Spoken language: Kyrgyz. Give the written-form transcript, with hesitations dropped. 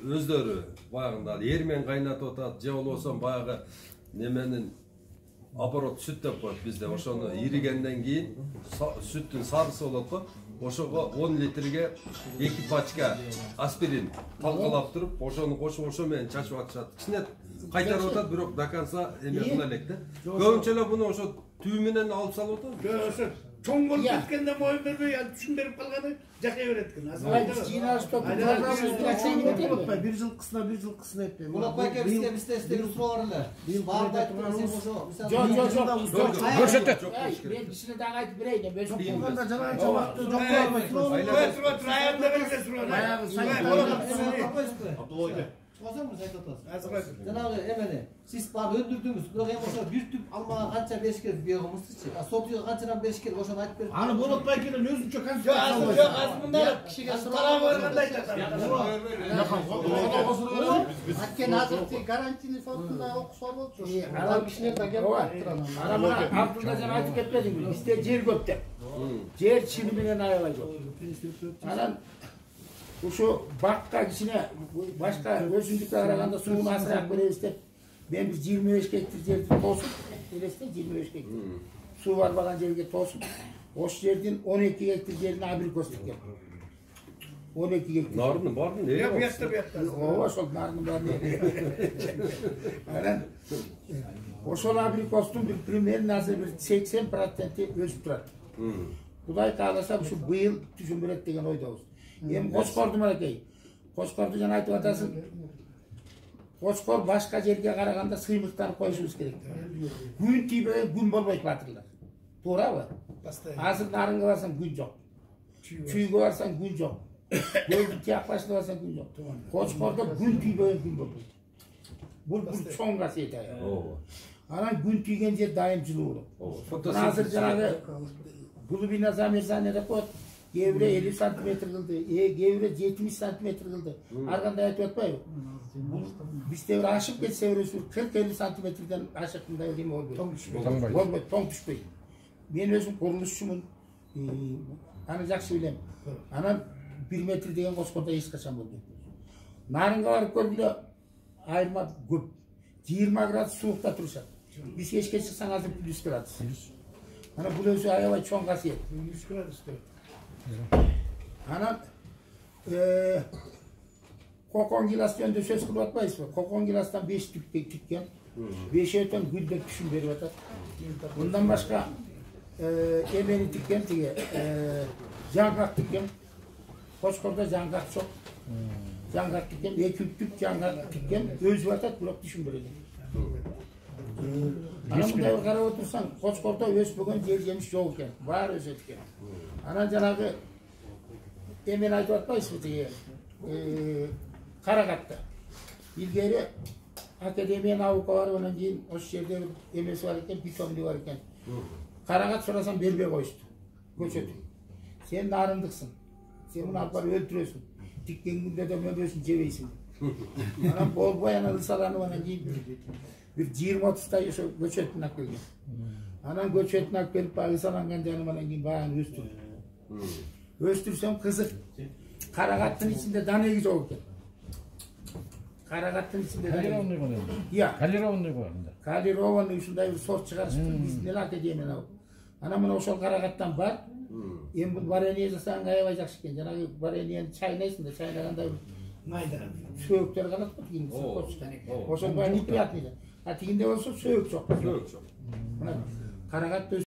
өздөрү баягында эр менен кайнатып атат, же болбосо баягы неменин оборот сүт деп коет бизде. Ошону иригенден кийин сүттүн сарысы болот го. Ошого 10 литрге 2 пачка аспирин талкалап туруп, ошону кошуп, ошо менен чачып атышат. Кичине кайтарып атат, бирок до конца эме кыла элек да. Көбүнчө эле буну ошо түү менен алып салып атат. Ошо чоң болуп кеткенде моюн бербей, түшүн берип калганы жакай берет экен. Bir жылкысына этпей. Булат байке бизге суроо бар эле. Барды айтып ошо. Жок. Көрсөтөт. Мен кичине дагы айтып берейин. Жок болгондо жанагы жабакты жок кылбайт. Айында берсе суроо. Баягы сайт. Абдулла Чоқсаңыз айтып атасыз. Жанагы эмени сиз баары өндүрдүңүз, бирок эми ошо бир түп алмага канча бериш керек бүйөгүмүздүчү. Сотуга канчадан бериш керек, ошону айтып берип. Аны болот байкенен өзүнчө консультация. Жок, азыр мындай кишиге тарабы баргандай айтат. Аткен азыркы гарантийный фондунда окуса болчу. Анан кишилер да келип турат. Анан Абдулла жана айтып кетпедиңби? Бизде жер көп деп. Жер чыны менен аябай көп. Анан ошо бакка кичине башка өсүмдүккө караганда сууну азыраак беребиз деп мен 25 гектар жерди тосуп, элесте 25 гектар. Суу барбаган жерге тосуп, ошол жердин 12 гектар жерин абрикос тиккен. 12 гектар. Нарын бардын, Я буякта. Ооба, ошол нарын барын. Анан ошол абрикостун бир примерно азыр бир 80% өсүп турат. Кудай кааласа ушу быйыл түшүн берет деген ойдобуз. Эми Кочкорду мынакей. Кочкорду жана айтып атасың. Кочкор башка жерге караганда сыймыктанып коюшубуз керек. Күн тийбеген күн болбойт батырлар. Туурабы? Азыр Нарынга барсаң күн жок. Чүйгө барсаң күн жок. Көлдүн тияклашына барсаң күн жок. Кочкордо күн тийбеген күн болбойт. Бул чоң касиет ая. Анан күн тийген жер дайым жылуу болот. Азыр жанагы глубина замерзания деп коет. Кээ-бири 50 сантиметр кылды, кээ-бири 70 сантиметр кылды. Ар кандай айтып атпайбы? Бизде бир ашып кетсе өрөсү 40-50 сантиметрден ашыкындай эме болбойт. Болбойт, тоң түшпөйт. Мен өзүм курулушчумун. Аны жакшы билем. Анан 1 метр деген Кочкордо эч качан болбойт. Нарынга барып көргүлө айырма көп. 20 градус суукта турушат. Биз кечке чыксаң азыр плюс градус. Анан бул өзү аябай чоң касиет. Плюс градус. Анан кокон гилас жөнүндө сөз кылып атпайсызбы? Кокон гиластан 5 түп тиккен. 5-тен гүлдеп түшүн берип атат. Мындан башка эмени тиккен тиги жаңгак тиккен. Кочкордо жаңгак жок. Жаңгак тиккен, 2 түп жаңгак тиккен. Өзүп атат, бирок түшүн берет. Анан мындай карап отурсаң, Кочкордо өспөгөн жер жемиш жок экен. Баары өсөт экен. Анан жанагы эмен айтып атпайсызбы тиги Карагатта. Илгери академия наука бар, анан кийин ошол жерде эмеси бар экен, питомни бар экен. Карагат сурасам бербей коюшту. Көчөт. Сен нарындыксың. Сен муну алып барып өлтүрөсүң. Тиккен күндө да мөбөсүн жебейсиң. Анан болбой анан ысаланып анан кийин бир 20-30 ошо көчөтүн алып келген. Анан көчөтүн алып келип баягы ысаланган жаным анан кийин баягы өстүрдүм. Өстүрсөм кызык. Карагаттын ичинде данеги жок экен. Карагаттын ичинде Калированный бар. Иә. Калированный бар. Калированный ушундай бир сорт чыгарышты биздин академиядан. Анан мына ошол карагаттан бар. Эми бул варенье жасагаң аябай жакшы экен. Жанагы вареньени чайнайсың да, чайнаганда майда сөөктөр калат го тигин. Ошол неприятный. А тигинде болсо сөөк жок. Сөөк жок. Мына карагат